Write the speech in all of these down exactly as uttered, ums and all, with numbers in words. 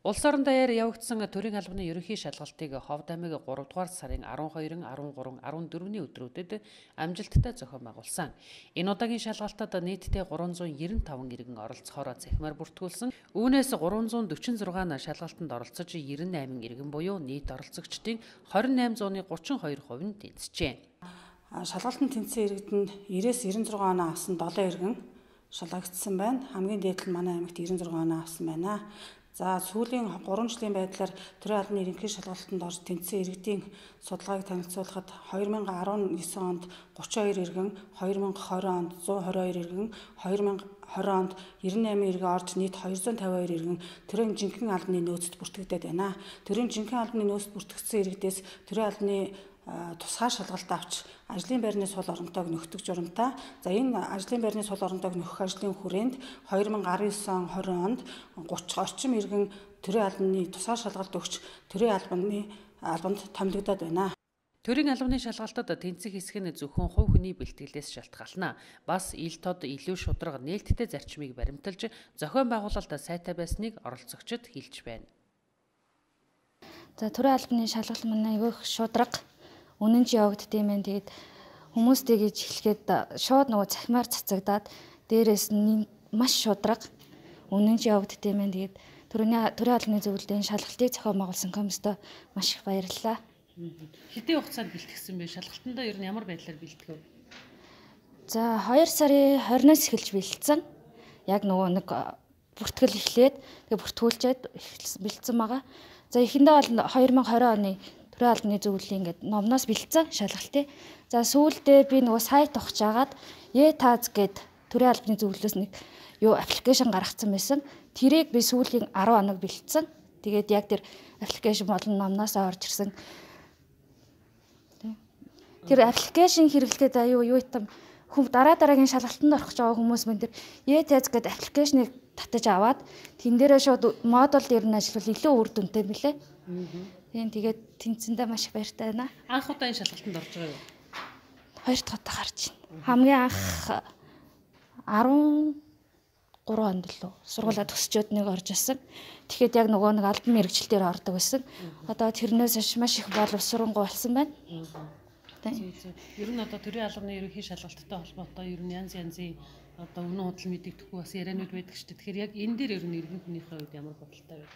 Улс орон даяар явагдсан төрийн албаны ерөнхий шалгалтыг Ховд аймаг гурав дугаар сарын арван хоёрын, арван гурван, арван дөрвөн өдрүүдэд амжилттай зохион байгуулсан. Энэ удаагийн шалгалтад нийтдээ гурван зуун найман таван иргэн оролцохоор цахимаар бүртгүүлсэн. Үүнээс гурван зуун дөрвөн зургаан шалгалтанд оролцож найман найман иргэн буюу нийт оролцогчдын хорин найман зууны гучин хоёр хувь нь тэнцжээ. Шалгалтанд тэнцсэн иргэдэнд найманаас найман зургаан оноо авсан долоо иргэн шалгагдсан байна. Хамгийн дээд нь манай аймагт найман зургаан оноо авсан байна. За сүүлийн гурван жилийн байдлаар төрийн албаны ерөнхий шалгалтанд орж тэнцсэн иргэдийн судалгааг танилцуулахад две тысячи десять онд гучин хоёр иргэн, две тысячи двадцать онд one hundred twenty-two иргэн, две тысячи twenty онд ninety-eight иргэн орж нийт two hundred fifty-two иргэн төрийн жинхэнэ албаны нөөцөд бүртгэгдээд байна. Төрийн жинхэнэ албаны нөөцөд бүртгэгдсэн иргэдээс төрийн албаны тусгай шалгалт авч ажлын байрны сул оронтойг нөхдөг журамтай. За энэ ажлын байрны сул оронтойг нөхөх ажлын хүрээнд two thousand nineteen twenty онд thirty орчим иргэн төрийн албаны тусгай шалгалт өгч төрийн албаны албанд томилогдоод байна. Төрийн албаны шалгалтад тэнцэх хэсэг нь зөвхөн хувь хүний бэлтгэлээс шалтгаална. Бас ил тод илүү шударга нээлттэй зарчмыг баримталж зохион байгуулалт сайтай байсныг оролцогчид хэлж байна. За төрийн албаны шалгалт манай айгүйх шударга үнэн ч явагддсан юм. Тэгээд хүмүүс тэгж хэлэхэд шууд нөгөө цахимаар цацагдаад дээрээс нь маш шударга үнэн ч явагддсан юм. Тэгээд төрийн төрийн албаны зөвлөлийн шалгалтыг зохион байгуулсан комиссод маш их баярлалаа. Хэдийн хугацаанд бэлтгэсэн бэ? Шалгалтандаа ер нь ямар байдлаар бэлтгэв? За two сарын twenty-наас эхэлж бэлдсэн. Яг нөгөө нэг бүртгэл эхлээд тэгээ бүртгүүлчихэд бэлдсэн байгаа. За эхэндээ бол twenty twenty оны төрийн албаны зөвлөлийн ингээд номноос бэлдсэн шалгалтыг. За сүүлдээ би нөгөө сайт ухаж агаад e-taz гээд төрийн албаны зөвлөлөөс нэг юу аппликейшн гаргацсан байсан. Тэрийг би сүүлийн ten хоног бэлдсэн. Тэгээд яг тэр аппликейшн болон номноос орж ирсэн. Тэр аппликейшн хэрэглэхэд аюу юу итам хүм дараа дараагийн шалгалтанд орох гэж байгаа хүмүүс мөн тэр e-taz гээд аппликейшнийг татаж аваад тэн дээрээ шууд модуль дээр нь ажиллавал илүү үр дүнтэй мөлий. Тийм тэгээд тэнцэндээ маш их баяртай байна. Анх удаа энэ шалгалтанд орж байгаа юу? Хоёр дахь удаа гарч байна. Хамгийн анх13 онд лөө сургуулаа төгсчөөд нэг орж ирсэн. Тэгэхэд яг нөгөө нэг албан мэргэжилтээр ордог байсан. Одоо тэрнээс маш их боловсронгуй болсон байна. Тийм. Ер нь одоо төрийн албаны ерөнхий шалгалттай холбоотой ер нь янз янзын одоо үнэн худал мэдэгдэхгүй бас яриануд байдаг шүү дээ. Тэгэхээр яг энэ дээр ер нь иргэн хүнийхээ үед ямар бодолтой вэ?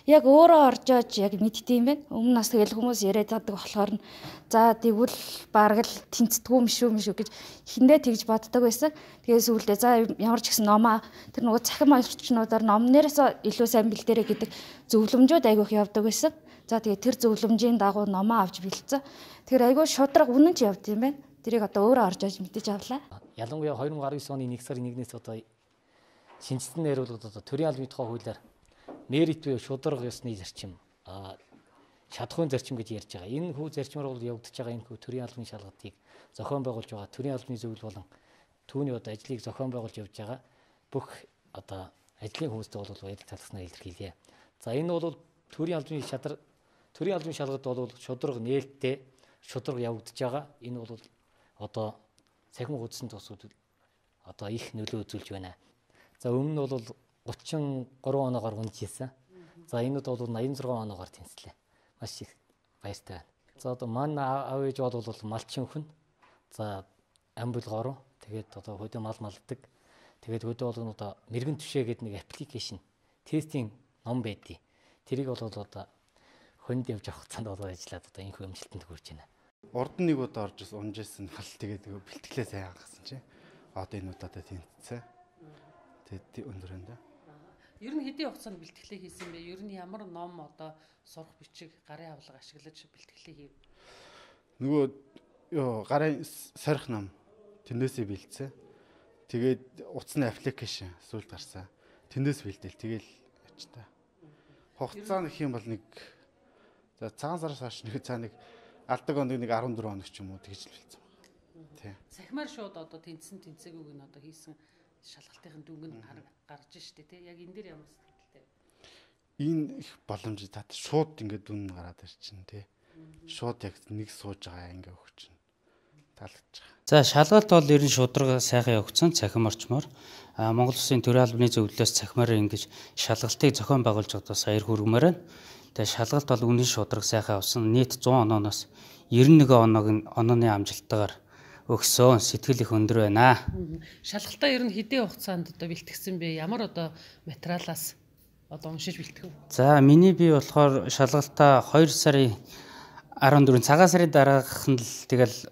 Яг өөрөө орж аж яг мэддэм байх. Өмнө нас тэгэл хүмүүс яриад байдаг болохоор нь за тэгвэл бараг л тэнцдэггүй юм шүү юм шүү гэж эхэндээ тэгж боддог байсан. Тэгээс үүлдээ за ямар ч гэсэн номоо тэр нөгөө цахим орчнуудаар номнероос илүү сайн бэлдээрэй гэдэг зөвлөмжүүд айгүйх явдаг байсан. За тэгээ тэр зөвлөмжийн дагуу номоо авч бэлдсэн. Тэр айгүй шудраг үнэн ч явд юм байна. Тэрийг одоо өөрөө орж аж мэдэж авлаа. Ялангуяа twenty nineteen оны one сарын one-ээс одоо шинжилсэн нэрвэлүүд одоо төрийн албаны тухай хуулиар merit буюу шударга ёсны зарчим, шатахуйн зарчим гэж ярьж байгаа. Энэ хүү зарчмаар бол явагдаж байгаа энэ хүү төрийн албаны шалгалтыг зохион байгуулж байгаа төрийн албаны зөвлөл болон түүний одоо ажлыг зохион байгуулж явж байгаа бүх одоо ажлын хүмүүстээ бол баярлалаа талхснаа илэрхийлье. За энэ бол төрийн албаны шадар төрийн албаны шалгалт бол шударга нээлттэй шударга явагдаж байгаа. Энэ бол одоо цахим хуудсан тусууд одоо их нөлөө үзүүлж байна. За өмнө нь бол thirty-three оноогоор унжижсэн. За энэд бол ninety-six оноогоор тэнцлээ. Маш их баяртай байна. За одоо манай аав ээж бол малчин хүн. За амбулгоор тэгээд одоо хөдөө мал малдаг. Тэгээд хөдөө бол одоо мэрэгэн түшээ гэдэг нэг аппликейшн тестийн ном байдгийг. Тэрийг бол одоо хүнд явж авах цаанд бол ажиллаад одоо энэ хэмжилтэнд хүрч байна. Урд нь нэг удаа орж унжсэн бол тэгээд бэлтгэлээ сайн хангасан чинь одоо энэ удаатай тэнцсэн. Тэгээд өндөр энэ. Ер нь хэдийн хугацаанд бэлтгэлээ хийсэн бэ? Ер нь ямар ном одоо сурах бичиг гарын авлага ашиглаж бэлтгэлээ хийв? Нөгөө ёо гарын сорих ном тэндээсээ бэлдсэн. Тэгээд утасны аппликейшн сүүлд гарсан. Тэндээс бэлдээл тэгэл ячтаа. Хугацаа нөх юм бол нэг за цагаан сараас хойш нэг цаа нэг алдаг онд нэг fourteen хоног ч юм уу тэгж л бэлдсэн байна. Тий. Сахимаар шууд одоо тэнцсэн тэнцээгүйг нь одоо хийсэн шалгалтын дүнг нь гарч штэ тий. Яг энэ дээр ямар сэтгэлтэй? Энэ их боломж тат шууд ингээд дүн гараад ирчин тий. Шууд яг нэг сууж байгаа ингээ өгч чинь. таалагдж байгаа. За шалгалт бол ер нь шударга сайхан явагдсан цахим орчмоор. А Монгол Улсын төрийн албаны зөвлөлөөс цахимаар ингэж шалгалтыг зохион байгуулж байгаа саяр хүргэмээр байна. Тэгээ шалгалт бол үнэн шударга сайхан авсан. Нийт зуун онооноос девяносто one оног нь онооны амжилттайгаар өгсөн. Сэтгэл их өндөр байна. Шалгалтаа ер нь хэдийн хугацаанд одоо бэлтгэсэн бэ? Ямар одоо материалаас одоо уншиж бэлтгэв? За миний бие болохоор шалгалтаа хоёр сарын арван дөрөв цагаан сарын дараах нь л тэгэл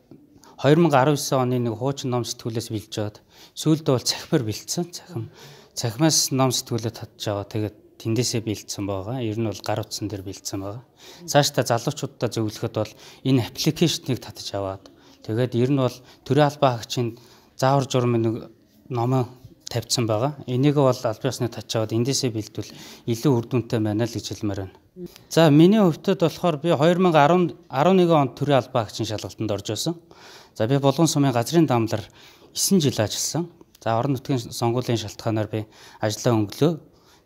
two thousand nineteen оны нэг хуучин ном сэтгүүлээс бэлж аваад сүүлдээ бол цахимаар бэлдсэн. Цахим цахимаас ном сэтгүүлээ татж аваа. Тэгээд тэндээсээ бэлдсэн байгаа. Ер нь бол гар утсан дээр бэлдсэн байгаа. Цаашдаа залуучуудаа зөвлөхөд бол энэ аппликейшнийг татж аваад тэгээд ер нь бол төрийн албан хаагчийн заавар журмын нэг номоо тавьсан байгаа. Энийг бол албан ёсны татж аваад эндээсээ бэлдвэл илүү үр дүнтэй байна л гэж хэлмээр байна. За миний хувьд болохоор би two thousand eleven онд төрийн албан хаагчийн шалгалтанд орж байсан. За би Булган сумын газрын даамлаар nine жил ажилласан. За орон нутгийн сонгуулийн шалтгаанаар би ажлаа өнгөлөө.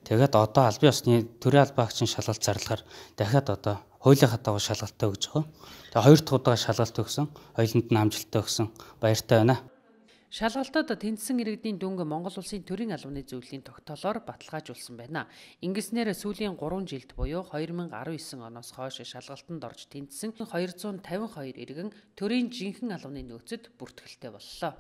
Тэгээд одоо албан ёсны төрийн албан хаагчийн шалгалт зарлахаар дахиад одоо хуулийнхаа дагуу шалгалтаа өгж байгаа. Тэгээд хоёр дахь удаа шалгалт өгсөн. Хоёуланд нь амжилттай өгсөн. Баяртай байна. Шалгалтад тэнцсэн иргэдийн дүнг Монгол Улсын төрийн албаны зөвлөлийн тогтоолоор баталгаажуулсан байна. Ингэснээр сүүлийн three жилд буюу twenty nineteen оноос хойш шалгалтанд орж тэнцсэн two hundred fifty-two иргэн төрийн жинхэнэ албаны нөөцөд бүртгэлтэй боллоо.